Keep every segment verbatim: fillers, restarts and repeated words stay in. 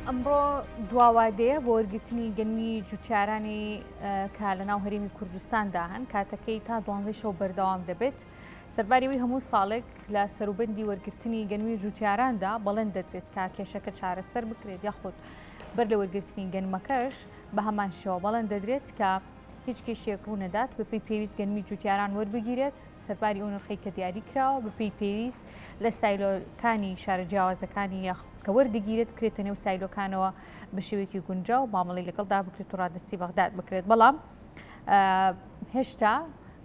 ئەمڕۆ دواوادەیە بۆ وەرگرتنی گەنمی جوتیارانی کە لە ناو هەرێمی کوردستاندا هەن، کاتەکەی تا دوانزەی شەو بەردەوام دەبێت. سەرباری هەموو ساڵێک لە سەروبەندی وەرگرتنی گەنمی جوتیاراندا بەڵێن دەدرێت کە کێشەکە چارەسەر بکرێت، یاخود بەر لە وەرگرتنی گەنمەکەش بە هەمان شێوە بەڵێن دەدرێت کە هیچ کێشێک ڕوونەدات، بەپێی پێویست گەنمی جوتیاران وەربگیرێت سەرباری ئەو نرخەی کە دیاری کراوە بەپێی پێویست لە سایلۆکانی شارە جیاوازەکانی کە وەردەگیرێت بکرێتە نێو سایلۆکانەوە بە شێوەیەکی گونجاو مامەڵەی لەگەڵدا بکرێت و ڕادەستی بەغداد بکرێت. بەڵام هێشتا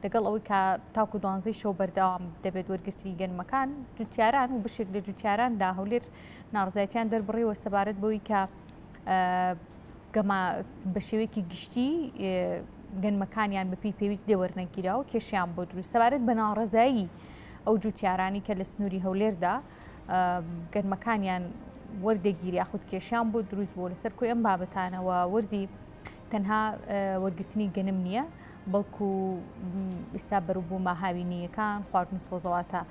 لەگەڵ ئەوەی کە تاکو دوانزەی شەو بەردەوام دەبێت وەرگرتنی گەنمەکان، جوتیاران و بەشێک لە جوتیاراندا هەولێر ناڕزایەتیان دەربڕیوە سەبارەت بەوەی کە بە شێوەیەکی گشتی گەنمەکانیان بەپێی پێویست لێوەرنەگیرا و کێشیان بۆ دروست. سەبارەت بە ناڕەزایی ئەو جوتیارانی کە لە سنووری هەولێردا گەنمەکانیان وەردەگیری یاخود کێشیان بۆ دروست بوو، لەسەر کۆی ئەم بابەتانەوە وەرزی تەنها وەرگرتنی گەنم نییە، بەڵکو ئێستا بەروبوومە هاوینیەکان، خواردن و سەوزەواتە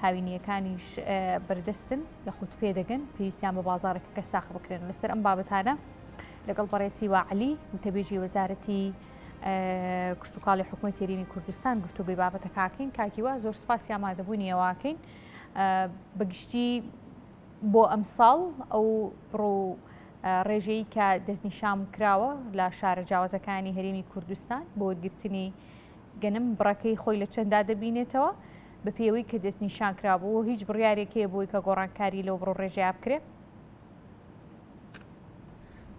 هاوینیەکانیش بەردەستن یاخود پێدەگەن، پێویستیان بە بازارێکە کە ساخ بکرێن. لەسەر ئەم بابەتانە لەگەڵ بەڕێزی واعلی وتەبێژی وەزارەتی کشتتوکاڵی حکوومەتی هەرێمی کوردستان گفتوگۆی بابەتەکەکەین. کاکیوا زۆر سپاسی ئامادەبوونی ئەوەکەین. بەگشتی بۆ ئەمساڵ ئەو بڕ ڕێژەیە کە دەستنیشان کراوە لە شارە جیاوازەکانی هەرێمی کوردستان بۆ وەرگرتنی گەنم بڕەکەی خۆی لە چەندا دەبینێتەوە بە پێوەی کە دەستنیشان کرابوو، هیچ بڕیارێک هەیە بۆی کە گۆڕانکاری لەو بڕ ڕێژەیە بکرێت؟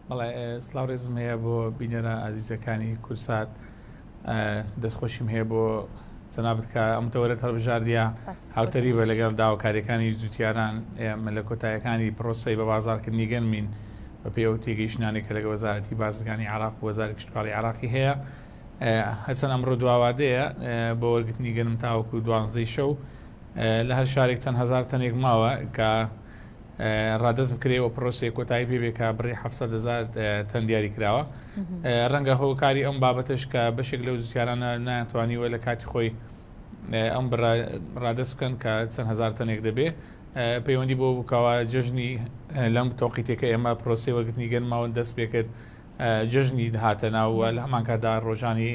بەڵێ، سڵاو ڕێزم هەیە بۆ بینەرە ئازیزەکانی کوردسات. دەستخۆشیم هەیە بۆ جەنابت کە ئەم تەوەرەت هەڵبژاردیە هاوتەری بە لەگەڵ داواکاریەکانی جوتیاران. ئێمە لە کۆتایەکانی پرۆسەی بە بازارکردنی گەنمین بە پێی ئەو تێگەیشتنانەی کە لەگەڵ وەزارەتی بازرگانی عێراق و وەزارەتی کشتوکاڵی عێراقی هەیە. هەرچەند ئەمڕۆ دواوادەیە بۆ وەرگرتنی گەنم تاوەکو دوانزەی شەو لە هەر شارێک چەند هەزار تەنێک ماوە کە ڕادەست بکرێ و پرۆسەی کۆتایی پێ بێ کە بڕی حەفسەد هەزار تەن دیاری کراوە. ڕەنگە هۆکاری ئەم بابەتش کە بەشێک لەو جوتیارانە نایانتوانیوە لە کاتی خۆی ئەم ڕادەست بکەن کە چەند هەزار تەنێک دەبێ، پەیوەندی بۆ بکەوە جەژنی لەم تۆقیتێکە ئێمە پرۆسەی وەرگرتنی گەنماوە دەست پێکرد، جەژنی هاتە ناو و لە هەمان کاتدا ڕۆژانی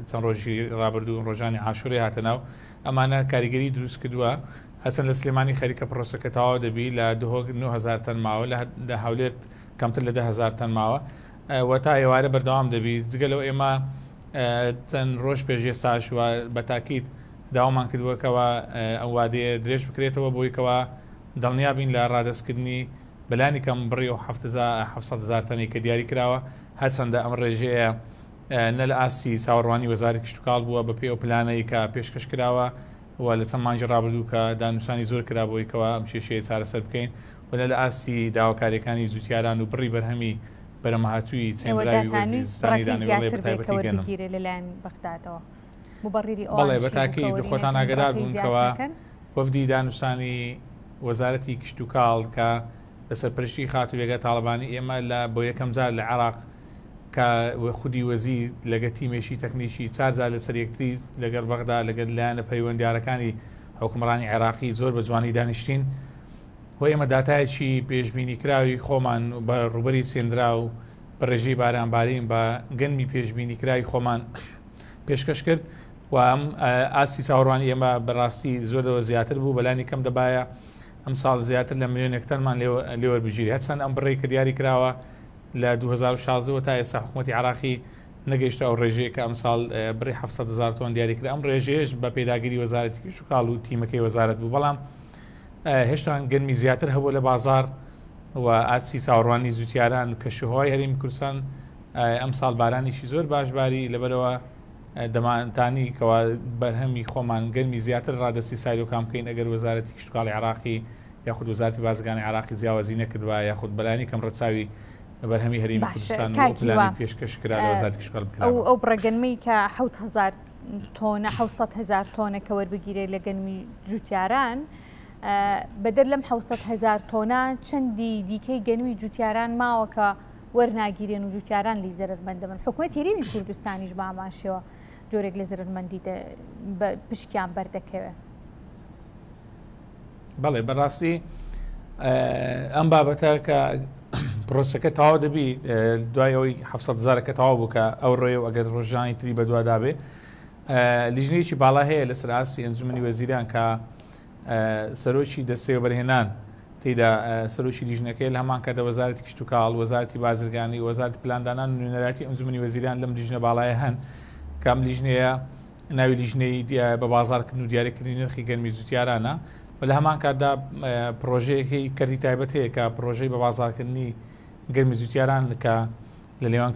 چەند ڕۆژی ڕابردوو ڕۆژانی عاشوورەی هاتە ناو. ئەمانە کاریگەری دروست کردووە. هەچەند لە سلێمانی خەریکە پرۆسەکە تەواو دەبی، لە دهۆک نۆ هەزار تەن ماوە، لە هەولێر کەمتر لە دە هەزار تەن ماوە و تا ئێوارە بەردەوام دەبی. جگە لەو ئێمە چەند ڕۆژ پێش ئێستاش و بە تاکید داوامان کردووەکەوە ئەو وادەیە درێژ بکرێتەوە بۆیکەوە دڵنیا بین لە ڕادەستکردنی بەلانی کەم بڕی و حەفسەد هەزار تەنێک کە دیاری کراوە. هەرچەندە ئەم ڕێژەیە نە لە ئاستی چاوەڕوانی وەزارەتی کشتتوکاڵ بووە بە پێی ئەو پلانەی کە پێشکەش کراوە و لە چەند مانگی ڕابردوو کە دانوسانی زۆر کرا بۆیکەوە ئەم کێشەیە چارەسەر بکەین و لە ئاستی داواکاریەکانی جوتیاران و بڕی بەرهەمی بەرەمەهاتووی چێندراوی وەرزی زستانی دانەوێڵێ بە تایبەتی گەنم لەلایەن بەغدادەوە. بەڵێ، بە تاکید خۆتان ئاگادار بوون کەوا وەفدی دانوسانی وەزارەتی کشتتوکاڵ کە لە سەرپەرشتی خاتوو بێگا تاڵەبانی ئێمە لە بۆ یەکەم جار لە عێراق کە خودی وەزیر لەگە تیمێکی تەکنیکی چوار جار لەسەر یەکتری لەگەڵ بەغدا لەگەڵ لایەنە پەیوەندیارەکانی حکومڕانی عێراقی زۆر بە جوانی دانیشتین و ئێمە داتایەکی پێشبینی کراوی خۆمان بە ڕووبەری چێندرا و بە ڕێژەی بارانبارین بە گەنمی پێشبینی کراوی خۆمان پێشکەش کرد و ئەم ئاستی چاوەڕوانی ئێمە بەڕاستی زۆر لەوە زیاتر بوو. بەلانی کەم دەبایە ئەم ساڵ زیاتر لە ملیۆنێک تەنمان لێوەربگیری. هەرچەند ئەم بڕێی کە دیاری کراوە لە دوو هەزار و شازدە تا ئێستا حکوومەتی عێراقی نەگەیشتە ئەو ڕێژەیە کە ئەم ساڵ بڕی حەفسەد هەزار تۆن دیاری کرا. ئەم ڕێژەیەش بە پێداگیری وەزارەتی کشتوکاڵ و تیمەکەی وەزارەت بوو، بەڵام هێشتا گەنمی زیاتر هەبوو لە بازار و ئاستی چاوەڕوانی جوتیاران و کەشوهەوای هەرێمی کوردستان ئەم ساڵ بارانێکی زۆر باشباری لەبەرەوە دەمانتانی کەوا بەرهەمی خۆمان گەرمی زیاتر ڕادەستی سایلۆکان بکەین ئەگەر وەزارەتی کشتوکاڵی عێراقی یاخود وەزارەتی بازرگانی عێراقی جیاوازی نەکردووە یاخود بەلانی کەم ڕەچاوی بەرهەمی هەرێمی کوردستان و پلانی پێشکەش کرا لە وەزارەتی کشتوکاڵ بکرا. ئەو بڕەگەنمەی کە حەوت هەزار تۆنە حەوت هەزار تۆنە کە وەربگیرێت لە گەنمی جوتیاران، بەدەر لەم حەوت هەزار تۆنە چەندی دیکەی گەنمی جوتیاران ماوە کە وەرناگیرێن و جوتیاران لی زەرەرمەندە بن. حکوومەتی هەرێمی کوردستانیش بە هەمان شێوە جۆرێک لە زەرەرمەندی پشکیان بەردەکەوێت. بەڵێ، بەڕاستی ئەم بابەتە کە پرۆسەکە تەواو دەبی دوای ئەوەی حەفت هەزارەکە تەواو بوو کە ئەو ڕێ و ئەگەر ڕۆژانی تری بەدوادا بێ، لیژنەیەکی باڵا هەیە لەسەر ئاستی ئەنجومەنی وەزیران کە سەرۆکی دەستەی وەبەرهێنان تێدا سەرۆکی لیژنەکەی لە هەمان کاتدا وەزارەتی کشتوکاڵ، وەزارەتی بازرگانی، وەزارەتی پلاندانان و نوێنەرایەتی ئەنجومەنی وەزیران لەم لیژنە باڵایە هەن کە ئەم لیژنەیە ناوی لیژنەی بە بازارکردن و دیاریکردنی نرخی گەرمی جوتیارانە و لە هەمان کاتدا پرۆژەیەکی کەرتی تایبەت هەیە کە پرۆژەی بە بازارکردنی گەرمی جوتیاران کە لە نێوان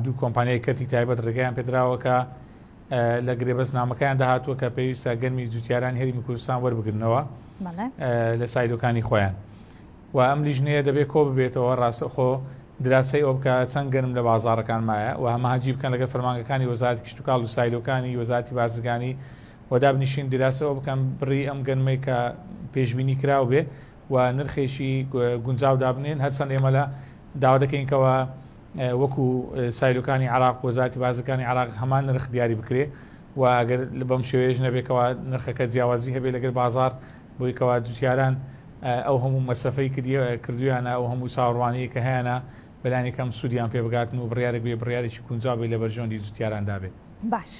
دوو کۆمپانیای کەرتی تایبەت ڕێگەیان پێدراوە کە لە گرێبەست نامەکەیان داهاتووە کە پێویستە گەرمی جوتیاران هەرێمی کوردستان وەربگرنەوە لە سایلۆکانی خۆیان. و ئەم لیژنەیە دەبێت کۆ ببێتەوە ڕاستەخۆ دراسەی ئەو بکە چەند گەرم لە بازارەکان مایە و هەماهەنگی بکەن لەگەڵ فەرمانگەکانی وەزارەتی کشتوکاڵ و سایلۆکانی وەزارەتی بازرگانی و دابنیشین دراسە ئەو بکەن بڕی ئەم گەرمەی کە پێشبینی کراو بێ و نرخێکی گونجاو دابنێن. هەرچەند ئێمە لە داوا دەکەین کەەوە وەکو سایلۆکانی عراق وەزارەتی بازرگانی عراق هەمان نرخ دیاری بکرێ و ئەگەر بەم شێوەیەش نەبێتەوە نرخەکە جیاوازی هەبێ لەگەر بازار بۆی کەوا جوتیاران ئەو هەموو مەسەفەی کردویانە ئەو هەموو چاوەڕوانیە کە هەیەە بەلانی کەم سوودیان پێ بگاتن و بڕیارێک بێ بڕیارێکی گونجاو بێ لە بەرژەوەندی جوتیاراندا بێت. باش،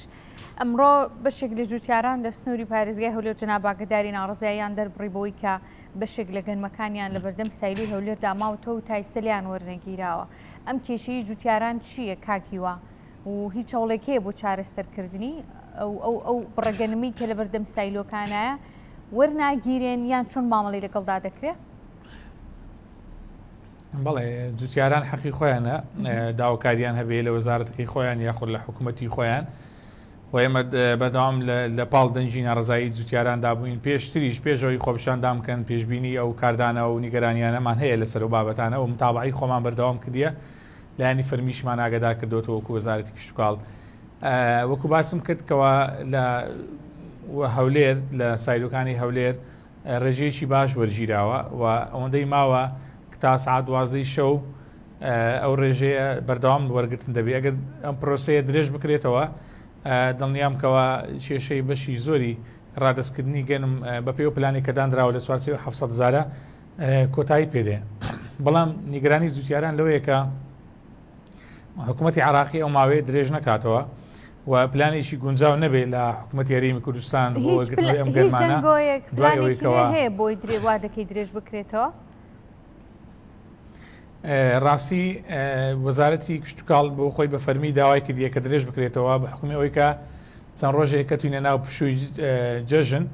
ئەمڕۆ بەشێک لە جوتیاران لە سنووری پارێزگای هەولێر جەناب ئاگاداری ناڕەزاییان دەربڕی بەوەی کە بەشێک لە گەنمەکانیان لە بەردەم سایلۆی هەولێردا ماوەتەوە و تایسە لێیان وەرنەگیراوە. ئەم کێشەی جوتیاران چییە کاک هیوا و هیچ هەوڵێک هەیە بۆ چارەسەرکردنی ئەو ئەو ئەو بڕەگەنمی کە لە بەردەم سایلۆکانایە وەرناگیرێن یان چۆن مامەڵەی لەگەڵدا دەکرێت؟ بەڵێ، جوتیاران حەقی خۆیانە داواکاریان هەبێ لە وەزارەتەکەی خۆیان یاخود لە حکوومەتی خۆیان و ئێمە بەردەوام لە پاڵ دەنگی ناڕەزایی جوتیاراندا بووین. پێشتریش پێشەوەی خۆپیشاندان بکەن پێشبینی ئەو کاردانەوە و نیگەرانیانەمان هەیە لەسەر ئەو بابەتانە و متابعی خۆمان بەردەوام کردیە، لایەنی فەرمیشمان ئاگادار کردوێتەوە وەکو وەزارەتی کشتوکاڵ. وەکو باسم کرد کەوا لە هەولێر لە سایلۆکانی هەولێر ڕێژەیەکی باش وەرگیراوە و ئەوەندەی ماوە تا سعات دوازدەی شەو ئەو ڕێژەیە بەردەوام وەرگتن دەبێت. ئەگەر ئەم پرۆسەیە درێژ بکرێتەوە دڵنیام کەوا کێشەی بەشی زۆری ڕادەستکردنی گەنم بەپێی ئەو پلانی کە دانراوە لە چوارسێ و حەفت هەزارە کۆتایی پێدێ. بەڵام نیگەرانی جوتیاران لەوەیە کە حکوومەتی عراقی ئەو ماوەیە درێژ نەکاتەوە و پلانێکی گونجاو نەبێت لە حکوومەتی هەرێمی کوردستان بۆ وەرگرتنەوەی ئەم گەرمانە. دوای ئەوەی کەوا هەیە بۆی درێ دەکەی درێژ بکرێتەوە؟ ڕاستی وەزارەتی کشتوکاڵ بۆ خۆی بە فەرمی داوای کردیە کە درێژ بکرێتەوە بە حکومی ئەوەی کە چەند ڕۆژێک کەتوینە ناو پشووی جەژن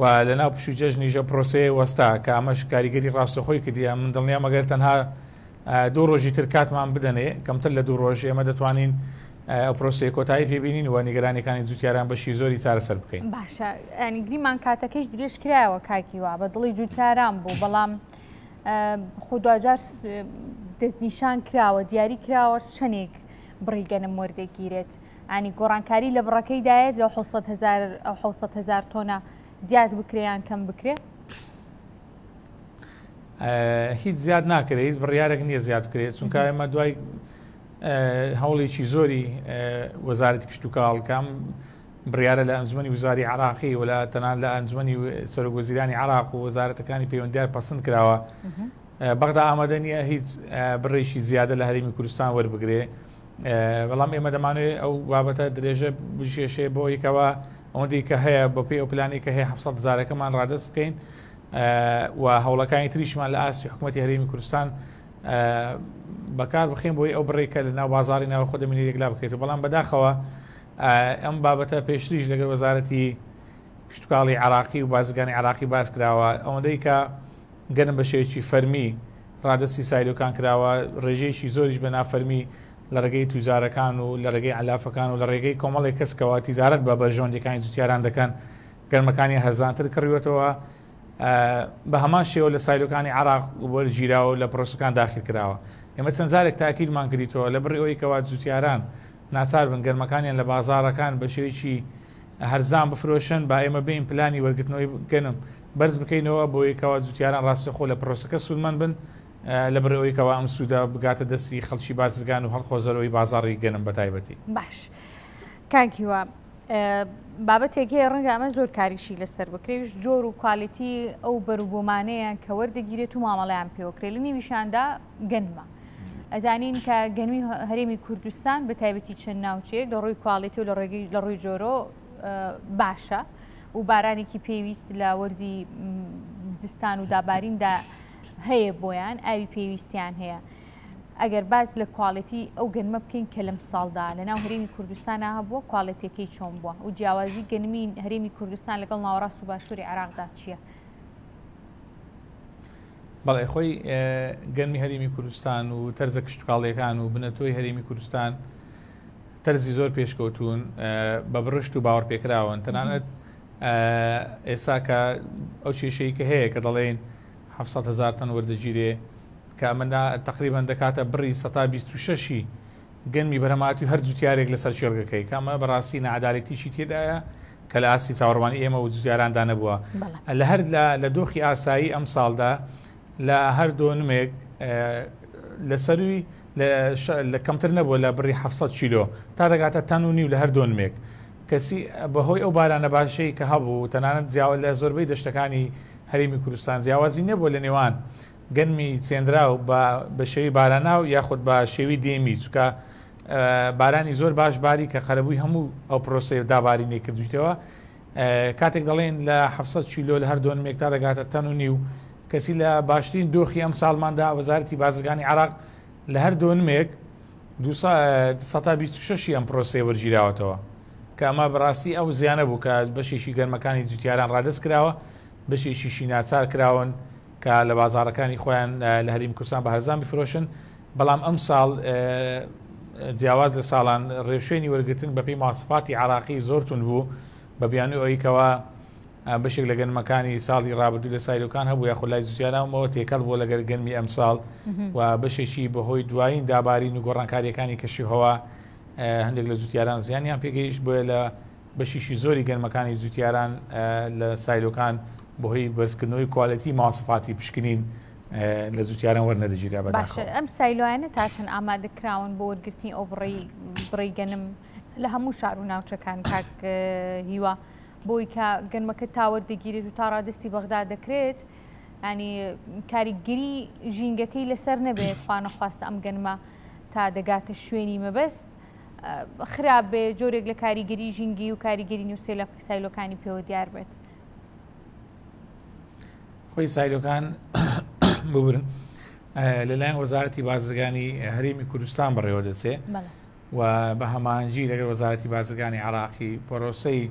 و لە ناو پشووی جەژنیژە پرۆسەیە وەستا کە ئەمەش کاریگەری ڕاستەخۆی کردیە. من دڵنیام ئەگەر تەنها دوو ڕۆژی تر کاتمان بدەنێ کەمتر لە دوو ڕۆژ ئێمە دەتوانین ئەو پرۆسەیە کۆتایی پێبینین و نیگەرانیەکانی جوتیاران بەشی زۆری چارەسەر بکەین. باشە، ینی گریمان کاتەکەیش درێژ کرایەوە کاکی وا بە دڵی جوتیاران بوو، بەڵام خۆ دواجار دەستنیشان کراوە دیاری کراوە چەندێک بڕی گەنم وەردەگیرێت. ینی گۆڕانکاری لە بڕەکەی دایەت لە حەوت هەزار تۆنە زیاد بکرێ یان کەم بکرێ؟ هیچ زیاد ناکرێت، هیچ بڕیارێک نییە زیاد بکرێت، چونکە ئێمە دوای هەوڵێکی زۆری وەزارەتی کشتوکاڵ کام بڕیارە لە ئەنجومەنی وزاری عراقی و لە تەنان لە ئەنجومەنی سەرۆک وەزیرانی عراق و وەزارەتەکانی پەیوەندیدار پەسند کراوە. بەغدا ئامادە نییە هیچ بڕێکی زیادە لە هەرێمی کوردستان وەربگرێ، بەڵام ئێمە دەمانەوێت ئەو بابەتە درێژە بشێشێ بۆ یەکەوە ئەوەندەی کە هەیە بەپێی ئەو پلانی کە هەیە حەفت هەزارەکەمان ڕادەست بکەین و هەوڵەکانی تریشمان لە ئاستی حکوومەتی هەرێمی کوردستان بەکار بخەین بۆی ئەو بڕێکە لە ناو بازاری ناوخۆ دەمینی یەکلا بکرێت. بەڵام بەداخەوە ئەم بابەتە پێشتریش لەگەڵ وەزارەتی کشتوکاڵی عراقی و بازرگانی عراقی باس کراوە، ئەوەندەی کە گەنم بە شێوەیەکی فەرمی ڕادەستی سایلۆکان کراوە، ڕێژەیەکی زۆریش بە نافەرمی لە ڕێگەی توجارەکان و لە ڕێگەی عەلافەکان و لە ڕێگەی کۆمەڵێک کەسکەوە تیجارەت بە بەرژەوەندیەکانی جوتیاران دەکەن، گەرمەکانی هەرزانتر کڕیوەتەوە. بە هەمان شێوە لە سایلۆکانی عراق وەرگیراوە و لە پرۆسەکان داخل کراوە. ئێمە چەند جارێک تاکیدمان کردیتەوە لە بڕی ئەوەی کەوا جوتیاران ناچار بن گەرمەکانیان لە بازارەکان بە شێوەیەکی هەرزان بفرۆشن، با ئێمە بین پلانی وەرگرتنەوەی گەنم بەرز بکەینەوە بۆ یەکەوە جوتیاران ڕاستەخۆ لە پرۆسەکە سوودمەند بن لە بڕی ئەوەی کەوا ئەم سوودە بگاتە دەستی خەڵکی بازرگان و هەڵخۆزەرەوەی بازاڕی گەنم بەتایبەتی. باش کاک هیوا، بابەتێک هەیە ڕەنگە ئەمە زۆر کاریشی لەسەر بکرێت، جۆر و کوالیتی ئەو بەروبوومانەیە کە وەردەگیرێت و مامەڵەیان پێوەکرێت، لە نێویشاندا گەنمە. ئەزانین کە گەنمی هەرێمی کوردستان بە تایبەتی چەند ناوچەیەک لە ڕووی quality و لە ڕووی جۆرۆ باشە و بارانێکی پێویست لە وەرزی زستان و داباریندا هەیە بۆیان، ئاوی پێویستیان هەیە. ئەگەر باز لە quality ئەو گەنمە بکەین کە لەم ساڵدا لەناو هەرێمی کوردستانە هەبووە، quality ەکەی چۆن بووە و جیاوازی گەنمی هەرێمی کوردستان لەگەڵ ناوەڕاست و باشووری عێراقدا چییە؟ بەڵێ، خۆی گەنمی هەرێمی کوردستان و تەرزە کشتتوکاڵیەکان و بنەتۆی هەرێمی کوردستان تەرزی زۆر پێشکەوتون، بە بڕشت و باوەڕپێکراون. تەنانەت ئێستا کە ئەو کێشەی کە هەیە کە دەڵێن حەفسەد هەزار تەن وەردەگیرێ، کە ئەمە تقریبا دەکاتە بڕی سەتا بیست و شەشی گەنمی بەرهەماتی هەر جوتیارێک لەسەر شێرگەکەی، کە ئەمە بەڕاستی نەعادالەتیشی تێدایە کە لە ئاستی چاوەڕوانی ئێمە و جوتیاراندا نەبووە. لە هەر لە دۆخی ئاسایی ئەم ساڵدا لە هەر دۆنمێک لە سەروی لە کەمتر نەبووە لە بڕی حەفسەد کیلۆ تا دەگاتە تەن و نیو لە هەر دۆنمێک. کەسی بەهۆی ئەو بارانە باشەی کە هەبوو، تەنانەت جیاواز لە زۆربەی دەشتەکانی هەرێمی کوردستان جیاوازی نەبووە لە نێوان گەنمی چێنراو بە شێوی باراناو یاخود بە شێوی دێمی، چونکە بارانی زۆر باش باری کە قەرەبووی هەموو ئەو پرۆسەی دابارینەی کردویتەوە. کاتێک دەڵێن لە حەفسەد کیلۆ لە هەر دۆنمێک تا دەگاتە تەن و نیو، کەسی لە باشترین دۆخی ئەم ساڵماندا وەزارەتی بازرگانی عێراق لە هەر دۆنمێک سەتا بیست و شەشی ئەم پرۆسەیە وەرگیراوەتەوە، کە ئەمە بەڕاستی ئەو زیانە بوو کە بەشێکی گەرمەکانی جوتیاران ڕادەست کراوە، بەشێکیشی ناچار کراون کە لە بازارەکانی خۆیان لە هەرێمی کوردستان بە هەرزان بفرۆشن. بەڵام ئەم ساڵ جیاواز لە ساڵان ڕێوشوێنی وەرگرتن بەپێی ماسفاتی عراقی زۆر توند بوو، بە بیانووی ئەوەیکەوە بەشێک لە گەنمەکانی ساڵی ڕابردوو لە سایلۆکان هەبوو یاخود لای جوتیارانەوە تێکەڵ بووە لەگەر گەنمی ئەم ساڵ و بەشێکی بەهۆی دوایین دابارین و گۆڕانکاریەکانی کەشوهەوا هەندێک لە جوتیاران زیانیان پێگەیشت، بۆیە لە بەشێکی زۆری گەنمەکانی جوتیاران لە سایلۆکان بەهۆی بەرزکردنەوەی quality ماسفاتی پشکنین لە جوتیاران وەرنەدەگیرا. باشە، ئەم سایلۆیانە تا چەند ئامادە کراون بۆ وەرگرتنی ئەو بڕی گەنم لە هەموو شار و ناوچەکان کاک هیوا، بۆی کە گەنمەکە تا وەردەگیرێت و تا ڕادستی بەغدا دەکرێت، ینی کاریگەری ژینگەکەی لەسەر نەبێت، خوانەخواستە ئەم گەنمە تا دەگاتە شوێنی مەبەست خراپ بێ، جۆرێک لە کاریگەری ژینگی و کاریگەری نووسێ لە سایلۆکانی پێوە دیار بێت. خۆی سایلۆکان ببورن لەلایەن وەزارەتی بازرگانی هەرێمی کوردستان بەڕێوە دەچێ و بە هەمانجی لەگەڵ وەزارەتی بازرگانی عراقی پرۆسەی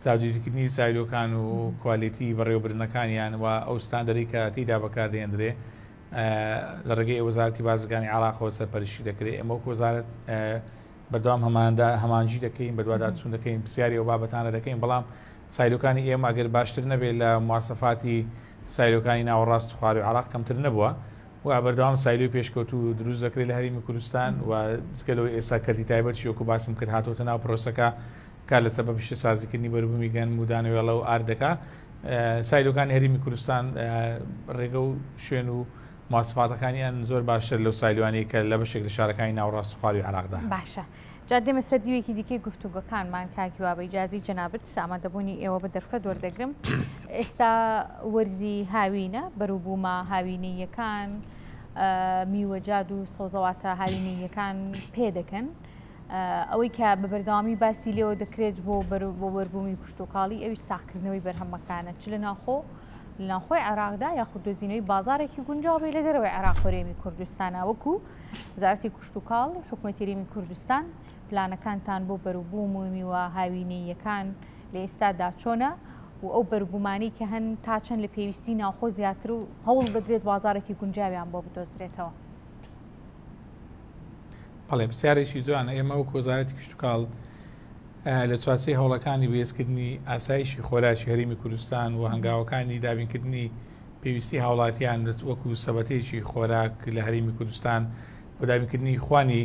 چاودێریکردنی سایلۆکان و quality بەڕێوەبردنەکانیان و ئەو ستاندەری کە تێیدا بەکاردێنرێ لە ڕێگەی وەزارەتی بازرگانی عراقەوە سەرپەرشتی دەکرێت. ئێمە وەک وەزارەت بەردەوام هەمانجی دەکەین، بەدواداچوون دەکەین، پرسیاری ئەو بابەتانە دەکەین، بەڵام سایلۆکانی ئێمە ئەگەر باشتر نەبێت لە مواسەفاتی سایلۆکانی ناوەڕاست و خواروی عراق کەمتر نەبووە و بەردەوام سایلۆی پێشکەوتوو دروست دەکرێت لە هەرێمی کوردستان و جگە لەوەی ئێستا کەرتی تایبەتیش وەکو باسم کرد هاتۆتە ناو پرۆسەکە کار لەسەر بە پیشەسازیکردنی بەروبوومی گەنم و دانەوێڵە و ئاردەکە. سایلۆکانی هەرێمی کوردستان ڕێگە و شوێن و ماسفاتەکانیان زۆر باشتر لەو سایلوانەی کە لە بەشێک لە شارەکانی ناوەڕاست و خواروی عێراقدا. باشە، جا دێمە سەر دیوێکی دیکەی گفتوگۆکانمان کاک هیوا، بە ئیجازی جەنابت ئامادەبوونی ئێوە بە دەرفەت وەردەگرم. ئێستا وەرزی هاوینە، بەروبوومە هاوینەیەکان، میوەجاد و سەوزەواتە هاوینەیەکان پێدەکەن. ئەوەی کە بە بەردەوامی باسی لێوە دەکرێت بۆ بەربوومی کشتتوکاڵی ئەویش ساغکردنەوەی بەرهەمەکانە، چ لە ناوخۆ لە ناوخۆی عێراقدا یاخود دۆزینەوەی بازارێکی گونجاو بێ لە دەرەوەی عێراق هەرێمی کوردستانە. وەکو وەزارەتی کشتتوکاڵ حکوومەتی هەرێمی کوردستان پلانەکانتان بۆ بەروبووم و میوە هاوینەیەکان لە ئێستادا چۆنە و ئەو بەروبوومانەی کە هەن تا چەند لە پێویستی ناوخۆ زیاتر و هەوڵ دەدرێت بازارێکی گونجاویان بۆ بدۆزرێتەوە؟ بەڵێ، پرسیارێکی جوانە. ئێمە وەک وەزارەتی کشتتوکاڵ لە چوارچێوەی هەوڵەکانی بەهێزکردنی ئاسایشی خۆراکی هەرێمی کوردستان و هەنگاوەکانی دابینکردنی پێویستی هاوڵاتیان وەکو سەبەتەیەکی خۆراک لە هەرێمی کوردستان بۆ دابینکردنی خوانی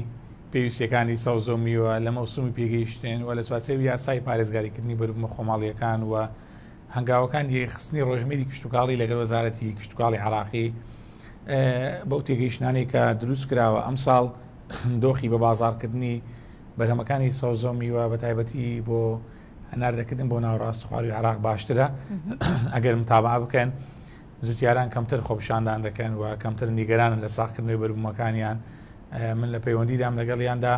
پێویستیەکانی سەوزە و میوە لە مەوسومی پێگەیشتن و لە چوارچێوەی یاسای پارێزگاریکردنی بەروبوومە خۆماڵیەکان و هەنگاوەکانی یەکخستنی ڕۆژمێری کشتتوکاڵی لەگەڵ وەزارەتی کشتتوکاڵی عراقی بەو تێگەیشتنانەی کە دروست کراوە ئەمساڵ دۆخی بە بازارکردنی بەرهەمەکانی سەوزە و میوە بە تایبەتی بۆ هەناردەکردن بۆ ناوەڕاست و خواروی عراق باشترە. ئەگەر متابعە بکەن جوتیاران کەمتر خۆپیشاندان دەکەن و کەمتر نیگەرانن لە ساغکردنەوەی بەروبوومەکانیان. من لە پەیوەندیدام لەگەڵیاندا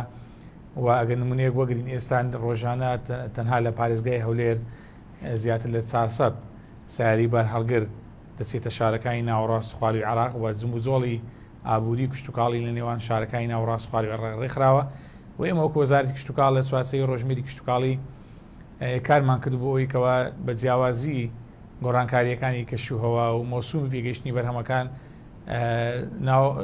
و ئەگەر نمونەیەک وەگرین ئێستا ڕۆژانە تەنها لە پارێزگای هەولێر زیاتر لە چوار سەد سیارەی بارهەڵگر دەچێتە شارەکانی ناوەڕاست خواروی عێراق و جموجۆڵی ئابووری کشتتوکاڵی لە نێوان شارەکانی ناوەڕاست خواروی عێراق ڕێکخراوە و ئێمە وەکو وەزارەتی کشتتوکاڵ لە چوارچێوەی ڕۆژمێری کشتتوکاڵی کارمان کرد بۆ ئەوەی کەوا بە جیاوازی گۆڕانکاریەکانی کەشوهەوا و مۆسومی پێگەیشتنی بەرهەمەکان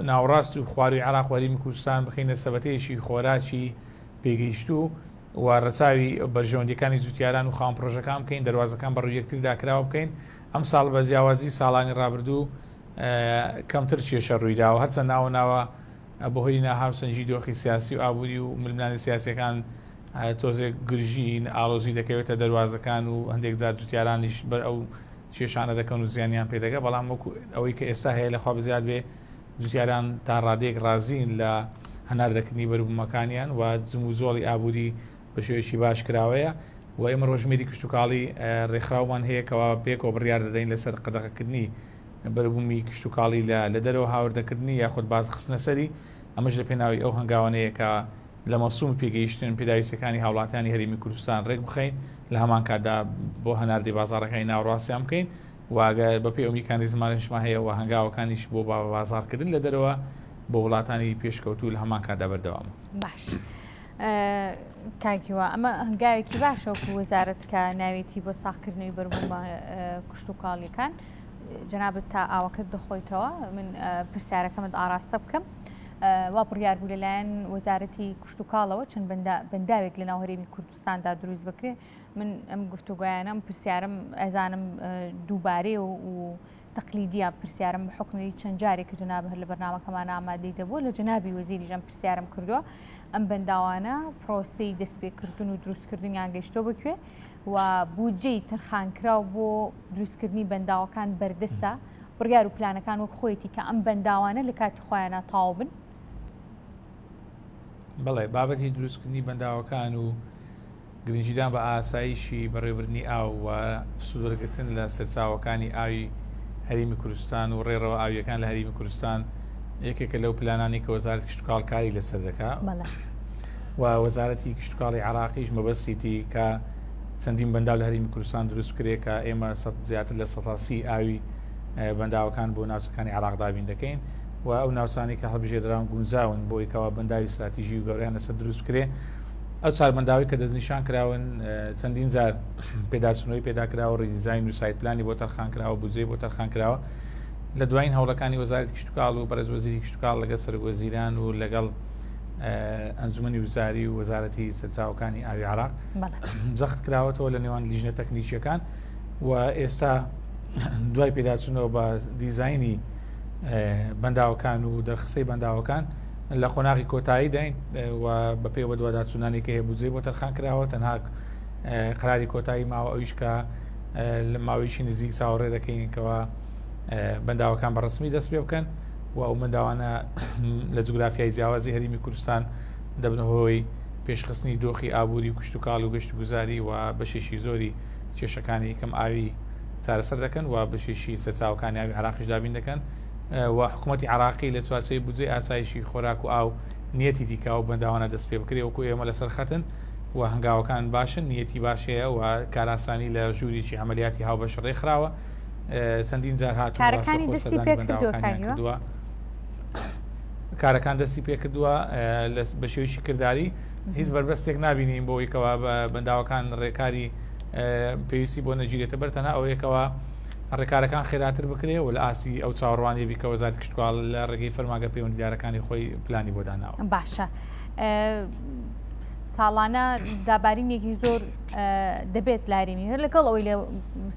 ناوەڕاست و خواروی عێراق و هەرێمی کوردستان بخەینە سەبەتەیەکی خۆراکی پێگەیشتوو و ڕەچاوی بەرژەوەندیەکانی جوتیاران و خاوەن پرۆژەکان بکەین، دەروازەکان بەڕووی یەکتردا کراوە بکەین. ئەم ساڵ بە جیاوازی ساڵانی ڕابردوو کەمتر کێشە ڕوویداوە، هەرچەند ناوە ناوە بەهۆی ناهاوسەنگی دۆخی سیاسی و ئابووری و ململانێ سیاسیەکان تۆزێک گرژی ئالۆزی دەکەوێتە دەروازەکان و هەندێک جار جوتیارانیش بەر ئەو کێشانە دەکەن و زیانیان پێدەگە، بەڵام وەکو ئەوەی کە ئێستا هەیە لەخوا بزیاد بێ جوتیاران تا ڕادەیەک ڕازین لە هەناردەکردنی بەروبوومەکانیان و جموجۆڵی ئابووری بە شێوەیەکی باش کراوەیە و ئێمە ڕۆژمێری کشتتوکاڵی ڕێکخراومان هەیە کەوا پێکەوە بڕیار دەدەین لەسەر قەدەغەکردنی بەروبوومی کشتتوکاڵی لە دەرەوە هاوردەکردنی یاخود بازخستنە سەری. ئەمەش لە پێناوی ئەو هەنگاوانەیە کە لە مەسووم پێگەیشتن پێداویستەکانی هاوڵاتیانی هەرێمی کوردستان ڕێک بخەین، لە هەمان کاتدا بۆ هەناردەی بازاڕەکانی ناوەڕاستیان بکەین و ئەگەر بەپێی ئەو میکانیزمانشمان هەیە و هەنگاوەکانیش بۆ بازاڕکردن لە دەرەوە بۆ وڵاتانی پێشکەوتوو لە هەمان کاتدا بەردەوامە. باش کاکیوە، ئەمە هەنگاوێکی باشە وەکو وەزارەت کە ناوێتی بۆ ساغکردنەوەی بەربوومە کشتتوکاڵیەکان. جەنابت تا ئاوەکەت دەخۆیتەوە من پرسیارەکەمت ئاراستە بکەم. وا بڕیار بوو لەلایەن وەزارەتی کشتتوکاڵەوە چەند بەنداوێک لەناو هەرێمی کوردستاندا دروست بکرێ. من ئەم گفتوگویانم پرسیارم ئەزانم دووبارەیە و تەقلیدیە، پرسیارم بە حکومی چەند جارێک کە جەناب هەر لە بەرنامەکەمان ئامادەی دەبوو لە جەنابی وەزیریش ئەم پرسیارم کردووە. ئەم بەنداوانە پرۆسەی دەستپێکردن و دروستکردنیان گەیشتۆ بکوێ و بودجەی تەرخانکراو بۆ دروستکردنی بەنداوەکان بەردەستە، بڕیار و پلانەکان وەک خۆیەتی کە ئەم بەنداوانە لە کاتی خۆیانە تەواو بن. بەڵێ، بابەتی دروستکردنی بەنداوەکان و گرنگیدان بە ئاسایشی بەڕێوەبردنی ئاو و سوودوەرگرتن لە سەرچاوەکانی ئاوی هەرێمی کوردستان و ڕێڕەوە ئاویەکان لە هەرێمی کوردستان یەکێکە لەو پلانانی کە وەزارەتی کشتتوکاڵ کاری لەسەر دەکا و وەزارەتی کشتتوکاڵی عێراقیش مەبەستیتی کە چەندین بەنداو لە هەرێمی کوردستان دروست بکرێت کە ئێمە زیاتر لە سەدا سی ئاوی بەنداوەکان بۆ ناوچەکانی عێراق دابین دەکەین و ئەو ناوچانەی کە هەڵبژێردراون گونجاون بۆ ئەوەی بەنداوی استراتیژی و گەورەیان لەسەر دروست بکرێت. ئەو چوار بەنداوی کە دەستنیشان کراون چەندین جار پێداچوونەوەی پێدا کراوە، redesign و site plan ی بۆ تەرخان کراوە، بودجەی بۆ تەرخان کراوە. لە دوایین هەوڵەکانی وەزارەتی کشتتوکاڵ و بەڕێز وەزیری کشتتوکاڵ لەگەڵ سەرۆک وەزیران و لەگەڵ ئەنجومەنی وزاری و وەزارەتی سەرچاوەکانی ئاوی عێراق جەخت کراوەتەوە لە نێوان لیژنە تەکنیکیەکان و ئێستا دوای پێداچوونەوە بە دیزایانی بەنداوەکان و دەرخستەی بەنداوەکان لە قۆناغی کۆتایی داین و بە پێی بەدواداچوونانی کە هەیە بودجەی بۆ تەرخان کراوە، تەنها قراری کۆتایی ماوە ئەویش کە لە ماوەیەکی نزیک چاوەڕێ دەکەین کەوا بەنداوەکان بە ڕسمی دەست پێ بکەن و ئەو بەنداوانە لە جوگرافیای جیاوازی هەرێمی کوردستان دەبنە هۆی پێشخستنی دۆخی ئابووری و کشتتوکاڵ و گەشتگوزاری و بەشێکی زۆری کێشەکانی کەم ئاوی چارەسەر دەکەن و بەشێکی سەرچاوەکانی ئاوی عێراقیش دابین دەکەن و حکوومەتی عراقی لە چوارچێوەی بودجەی ئاسایشی خۆراک و ئاو نیەتی دیکە و بەنداوانە دەست پێ بکرێ وەکو ئێمە لەسەر خەتن و هەنگاوەکان باشن، نیەتی باشەیە و کاراسانی لە ژوورێکی عملیاتی هاوبەش ڕێکخراوە. چەندین جار هاتوون کارەکانی دەستی پێکردووە کردووە، کارەکان دەستی پێکردووە بە شێوەیەکی کرداری، هیچ بەربەستێک نابینین بۆ ئەوەی بە بەنداوەکان ڕێکاری پێویستی بۆ نەگیرێتە بەر، تەنها ئەوەیەکەوە ڕێکارەکان خێراتر بکرێ و لە ئاستی ئەو چاوەڕوانیە بی کە وەزارەتی کشتتوکاڵ لە ڕێگەی فەرمانگە پەیوەندیدارەکانی خۆی پلانی بۆ داناوە. باشە، ساڵانە دابارینێکی زۆر دەبێت لارێمی هەر لەگەڵ ئەوەی لە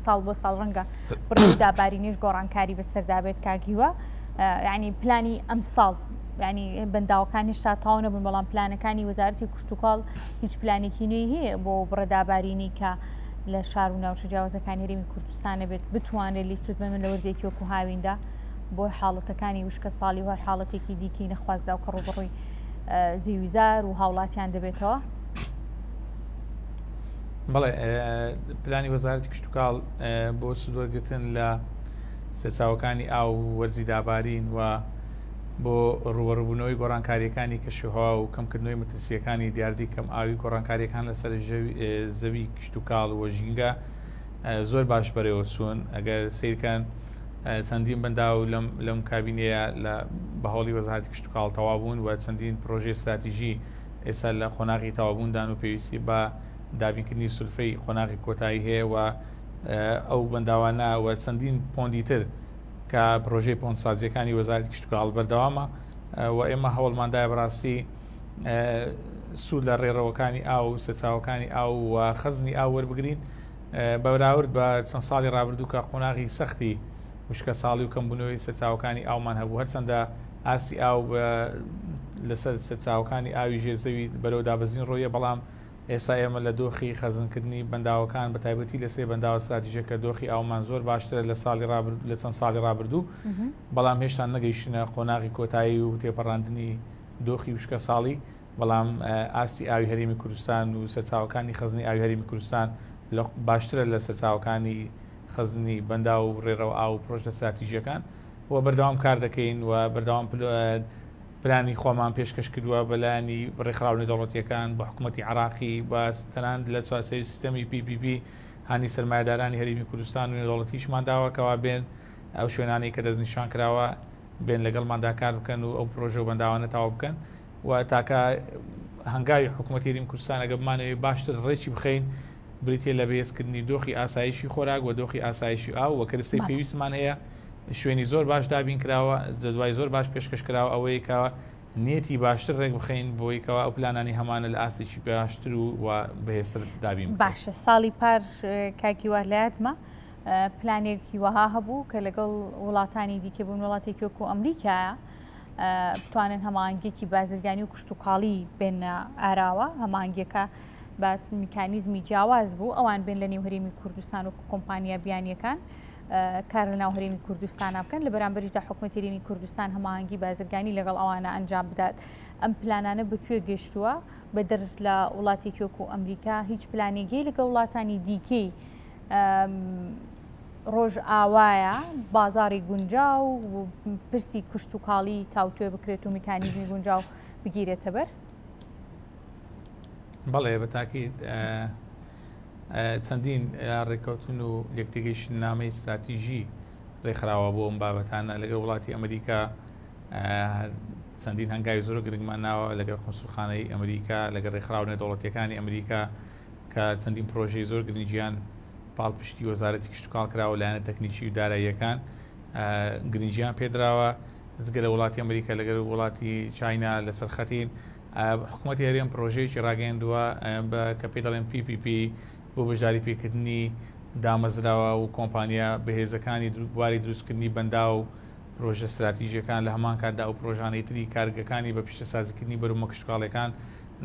ساڵ بۆ ساڵ ڕەنگە بڕی دابارینیش گۆڕانکاری بەسەردا بێت کاکیوە، یعنی پلانی ئەم ساڵ یعنی بەنداوەکان هێشتا تەواو نەبوون، بەڵام پلانەکانی وەزارەتی کشتتوکاڵ هیچ پلانێکی نوێی هەیە بۆ بڕە دابارینی کە لە شار و ناوچە جیاوازەکانی هەرێمی کوردستانە بێت بتوانێت لی سوودمەند لە وەرزێکی وەکو هاویندا بۆ حاڵەتەکانی وشکە ساڵی و هەر حاڵەتێکی دیکەی نەخوازدا و کە ڕووبەڕووی زەویزار و هاوڵاتیان دەبێتەوە؟ بەڵێ، پلانی وەزارەتی کشتتوکاڵ بۆ سوودوەرگرتن لە سەرچاوەکانی ئاو و وەرزی دابارین و بۆ ڕووبەڕووبوونەوەی گۆڕانکاریەکانی کەشوهەوا و کەمکردنەوەی مەترسیەکانی دیاردەی کەم ئاوی گۆڕانکاریەکان لەسەر زەوی کشتوکاڵ و ژینگە زۆر باش بەرێوە چوون. ئەگەر سیرکەن چەندین بەنداو لەم لەم کابینەیە لە بە هەوڵی وەزارەتی کشتوکاڵ تەواو بوون و چەندین پرۆژەی استراتیژی ئێستا لە قۆناغی تەواوبووندان و پێویستی بە دابینکردنی سولفەی قۆناغی کۆتایی هەیە و ئەو بەنداوانە و چەندین پۆندی تر کە پرۆژەی پۆندسازیەکانی وەزارەتی کشتوکاڵ بەردەوامە و ئێمە هەوڵماندایە بەڕاستی سوود لە ڕێڕەوەکانی ئاو و سەرچاوەکانی ئاو و خەزنی ئاو وەربگرین بەراورد بە چەند ساڵی ڕابردوو کە قۆناغی سەختی وشکە ساڵی و کەمبوونەوەی سەرچاوەکانی ئاومان هەبوو. هەرچەندە ئاستی ئاو لەسەر سەرچاوەکانی ئاوی ژێر زەوی بەرەو دابەزین ڕۆیە، بەڵام ئێستا ئێمە لە دۆخی خەزنکردنی بەنداوەکان بە تایبەتی لەسەر بەنداوە استراتیژەکە دۆخی ئاومان زۆر باشترە لە ساڵی ڕابرد لە چەند ساڵی ڕابردوو، بەڵام هێشتا نەگەیشتنە قۆناغی کۆتایی و تێپەڕاندنی دۆخی وشکە ساڵی. بەڵام ئاستی ئاوی هەرێمی کوردستان و سەرچاوەکانی خەزنی ئاوی هەرێمی کوردستان باشترە لە سەرچاوەکانی خەزنی بەنداو و ڕێڕەو ئاو و پرۆژە استراتیژیەکان و بەردەوام کار دەکەین و بەردەوام پلانی خۆمان پێشکەش کردووە بەلایەنی ڕێکخراوە نێودەوڵەتیەکان بە حکوومەتی عراقی بە تەنانەت لە چوارچێوەی سیستەمی پی پی پی هانی سەرمایەدارانی هەرێمی کوردستان و نێودەوڵەتیشمان داوە کەوا بێن ئەو شوێنانەی کە دەستنیشان کراوە بێن لەگەڵماندا کار بکەن و ئەو پرۆژە و بەنداوانە تەواو بکەن. و تاکە هەنگاوی حکوومەتی هەرێمی کوردستان ئەگەر بمانەوێت باشتر ڕێکی بخەین بریتیە لە بەهێزکردنی دۆخی ئاسایشی خۆراک و دۆخی ئاسایشی ئاو و کەرەستەی پێویستمان هەیە. شوێنی زۆر باش دابین کراوە، جەدوای زۆر باش پێشکەش کراوە، ئەوەیە کە نیەتی باشتر ڕێک بخەین بۆی کەوا ئەو پلانانی هەمانە لە ئاستێکی باشتر و بەهێزتر دابین بکەین. باشە، ساڵی پار کاکی وا لە یادمە پلانێکی وەها هەبوو کە لەگەڵ وڵاتانی دیکە بوون، وڵاتێکی وەکو ئەمریکایە بتوانن هەماهەنگیەکی بازرگانی و کشتوکاڵی بێنە ئاراوە. هەماهەنگیەکە بە میکانیزمی جیاواز بوو، ئەوان بێن لە نێو هەرێمی کوردستان و کۆمپانیا بیانیەکان کار لە ناو هەرێمی کوردستان بکەن، لە بەرامبەریشدا حکوومەتی هەرێمی کوردستان هەماهەنگی بازرگانی لەگەڵ ئەوانە ئەنجام بدات. ئەم پلانانە بەکوێ گەشتووە؟ بەدەر لە وڵاتێکی وەکو ئەمریکا هیچ پلانێکی لەگەڵ وڵاتانی دیکەی ڕۆژ ئاوایە بازاری گونجاو و پرسی کشتوکاڵی تاوتوێ بکرێت و میکانیزمی گونجاو بگیرێتە بەر؟ بەڵێ، بە تاکید چەندین ڕێککەوتن و لێکتێگەیشتنامەی استراتیژی ڕێکخراوە بۆ ئەم بابەتانە لەگەڵ وڵاتی ئەمریکا. چەندین هەنگاوی زۆر گرنگمان ناوە لەگەڵ قونسوڵخانەی ئەمریکا، لەگەڵ ڕێکخراوە نێودەوڵەتیەکانی ئەمریکا کە چەندین پرۆژەی زۆر گرنگیان پاڵپشتی وەزارەتی کشتوکاڵ کراوە، لایەنە تەکنیکی و داراییەکان گرنگیان پێدراوە. جگە لە وڵاتی ئەمریکا لەگەڵ وڵاتی چاینا لەسەر خەتین. حکوومەتی هەرێم پرۆژەیەکی ڕاگەیاندووە کە پێی دەڵێن پی پی پی بۆ بەشداری پێکردنی دامەزراوە و کۆمپانیا بەهێزەکانی بواری دروستکردنی بەنداو و پرۆژە استراتیژیەکان، لە هەمان کاتدا ئەو پرۆژانەی تری کارگەکانی بە پیشەسازیکردنی بەروبوومە کشتوکاڵیەکان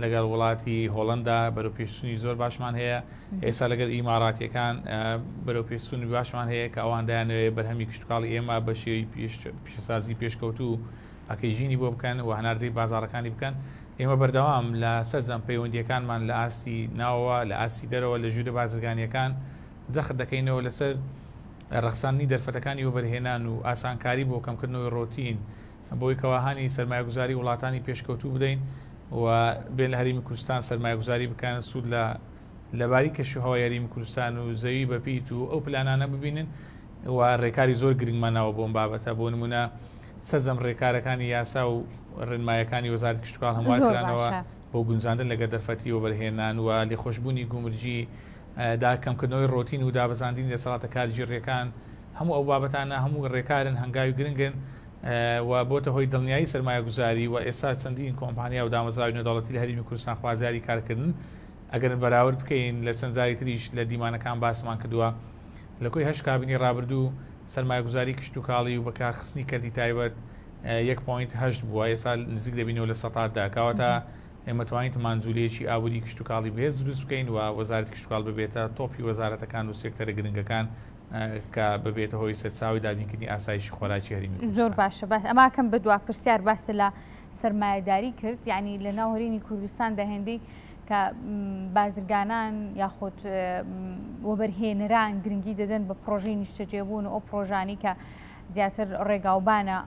لەگەڵ وڵاتی هۆڵندا بەرەو پێشچوونی زۆر باشمان هەیە. ئێستا لەگەڵ ئیماراتیەکان بەرەو پێشچوونی باشمان هەیە کە ئەوان دایانەوێت بەرهەمی کشتوکاڵی ئێمە بە شێوەی پیشەسازی پێشکەوتوو پاکێجینی بۆ بکەن و هەناردەی بازاڕەکانی بکەن. ئێمە بەردەوام لە سەرجەم پەیوەندیەکانمان لە ئاستی ناوەوە، لە ئاستی دەرەوە، لە ژوورە بازرگانیەکان جەخت دەکەینەوە لەسەر ڕەخساندنی دەرفەتەکانی وەبەرهێنان و ئاسانکاری بۆ کەمکردنەوەی ڕۆتین بۆی کەواهانی سەرمایەگوزاری وڵاتانی پێشکەوتوو بدەین و بێن لە هەرێمی کوردستان سەرمایەگوزاری بکەن، سوود لە لەباری کەشوهەوای هەرێمی کوردستان و زەوی بەپیت و ئەو پلانانە ببینن. و ڕێکاری زۆر گرنگمان ناوە بۆ ئەم بابەتە. بۆ نمونە سەرجەم ڕێکارەکانی یاسا و ڕێنمایەکانی وەزارەتی کشتوکاڵ هەموار کرانەوە بۆ گونجاندن لەگەڵ دەرفەتی وەبەرهێنان و لێخۆشبوونی گومرگی دا کەمکردنەوەی ڕۆتین و دابەزاندنی دەسەڵاتە کارگێڕیەکان. هەموو ئەو بابەتانە هەموو ڕێکارن هەنگاوی گرنگن و بۆتە هۆی دڵنیایی سەرمایەگوزاری و ئێستا چەندین کۆمپانیا و دامەزراوی نێودەوڵەتی لە هەرێمی کوردستان خوازیاری کارکردن. ئەگەر بەراورد بکەین لە چەند جاری تریش لە دیمانەکان باسمان کردووە، لە کۆی هەشت کابینی ڕابردوو سەرمایەگوزاری کشتوکاڵی و بەکارخستنی کەرتی تایبەت یەک پۆینت هەشت بووە، ئێستا نزیک دەبینەوە لە سەتاتدا. کەواتە ئێمە توانیتمان جوولەیەکی ئابووری کشتوکاڵی بەهێز دروست بکەین و وەزارەتی کشتوکاڵ ببێتە تۆپی وەزارەتەکان و سێکتەرە گرنگەکان کە ببێتە هۆی سەرچاوی دابینکردنی ئاسایشی خۆراکی هەرێمی کوردستان. زۆر باشە. باس ئەماکەم بە دوا پرسیار باسە لە سەرمایەداری کرد، یعنی لە ناو هەرێمی کوردستان دەهێندەی کە بازرگانان یاخود وەبەرهێنەران گرنگی دەدەن بە پرۆژەی نیشتەجێبوون و ئەو پرۆژانی کە زیاتر ڕێگاوبانە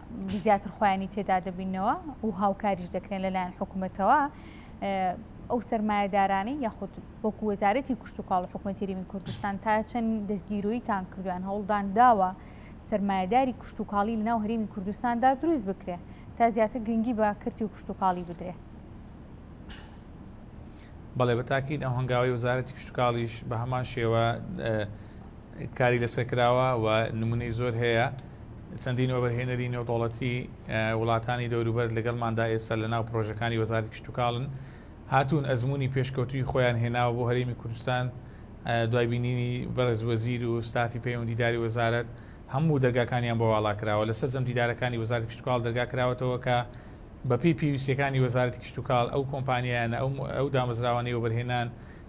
زیاتر خۆیانی تێدا دەبینەوە و هاوکاریش دەکرێن لەلایەن حکوومەتەوە. ئەو سەرمایەدارانەی یاخود وەکو وەزارەتی کشتتوکاڵ و حکوومەتی هەرێمی کوردستان تا چەند دەستگیرۆییتان کردویان هەوڵدان داوە سەرمایەداری کشتتوکاڵی لەناو هەرێمی کوردستاندا دروست بکرێ تا زیاتر گرنگی بە کەرتی و کشتتوکاڵی بدرێ؟ بەڵێ، بەتاکید ئەو هەنگاوی وەزارەتی کشتتوکاڵیش بە هەمان شێوە کاری لەسەر کراوە و نمونەی زۆر هەیە. چەندین وەبەرهێنەری نێودەوڵەتی وڵاتانی دەوروبەر لەگەڵماندا ئێستا لەناو پرۆژەکانی وەزارەتی کشتتوکاڵن هاتوون ئەزمموی پێشکەوتوی خۆیان هێناوە بۆ هەرێمی کوردستان. دوای بینینی بەڕێز وەزیر و ستافی پەیوەندیداری وەزارەت هەموو دەرگاکانیان بۆ واڵا کراوە. لە سەرجەم دیدارەکانی وەزارەتی کشتتوکاڵ دەرگا کراوەتەوە کە بەپێی پێویستیەکانی وەزارەتی کشتتوکاڵ ئەو کۆمپانیایانە ئەو دامەزراوانەی وەبەرهێنان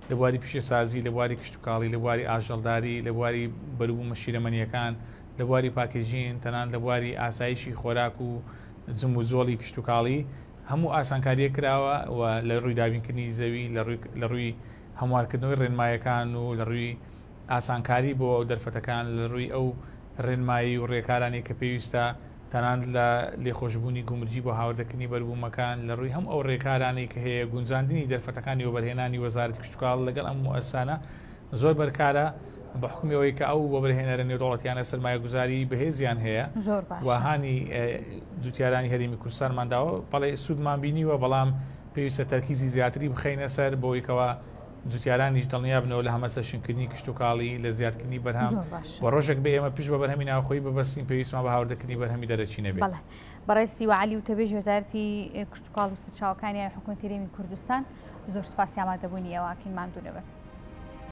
لە بواری پیشەسازی، لە بواری کشتتوکاڵی، لە بواری ئاژەڵداری، لە بواری بەروبوومە شیرەمەنیەکان، لە بواری packaging، تەنان لە بواری ئاسایشی خۆراک و جموجۆڵی کشتتوکاڵی هەموو ئاسانکاریە کراوە و لە ڕووی دابینکردنی زەوی، لە ڕووی هەموارکردنەوەی ڕێنمایەکان و لە ڕووی ئاسانکاری بۆ ئەو دەرفەتەکان، لە ڕووی ئەو ڕێنمایی و ڕێکارانی کە پێویستە، تەنانەت لە لێخۆشببوونی گومرگی بۆ هاوردەکردنی بەربوومەکان، لە ڕووی هەم ئەو ڕێکارانەی کە هەیە گونجاندنی دەرفەتەکانی وەبەرهێنانی وەزارەتی کشتتوکاڵ لەگەڵ ئەم موئەسسانە زۆر بەرکارە، بە حکومی ئەوەی کە ئەو وەبەرهێنەرە نێودەوڵەتیانە سەرمایەگوزاری بەهێزیان هەیە و هانی جوتیارانی هەرێمی کوردستانمان داوە. بەڵێ سوودمان بینیوە، بەڵام پێویستە تەرکیزی زیاتری بخەینە سەر بۆیکەوە جوتیارانیش دڵنیا بنەوە لە هەمەچەشنکردنی کشتتوکاڵی، لە زیادکردنی بەرهەم و ڕۆژێک بێ ئێمە پشت بە بەرهەمی ناوخۆیی ببەستین پێویستمان بە هاوردەکردنی بەرهەمی دەرەکی نەبێت. بەڵێ، بەڕێز سیوە عەلی وتەبێژی وەزارەتی کشتتوکاڵ و سەرچاوەکانی حکوومەتی هەرێمی کوردستان، زۆر سوپاسی ئامادەبوونی ئێوە ئەکەین، ماندوو نەبن.